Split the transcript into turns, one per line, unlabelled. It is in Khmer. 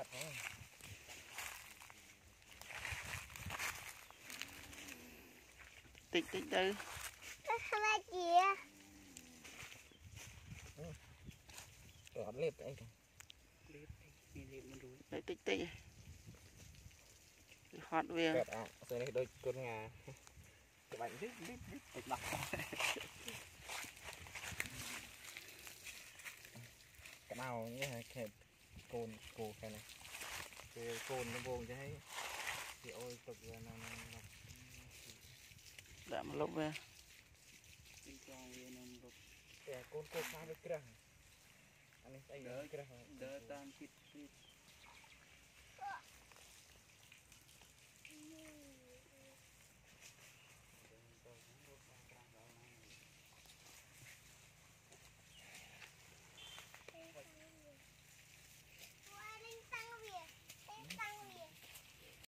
មាត់ហ្នឹង
តិចតិចទៅ
ខ្លាចជា
អត់លេបអីទេ
លេបអីមានលេបមិនរួច
តិចតិចវាហត់វា
កើតអាស្អីនេះដូចគុណងាច្បាច់នេះលីបលីបតិចដោះក្តៅនេះហើយខេតកូនគោខែនេះពេលកូនដំបងចេះហើយគេអុយទុកវានៅនឹង
ដាក់មកលុបវា
ទីចងវានឹងលុប
តែកូនគោខ្លះវាក្រាស់អានេះស្អីក្រាស់
ដើរតាមចិត្តទៀត។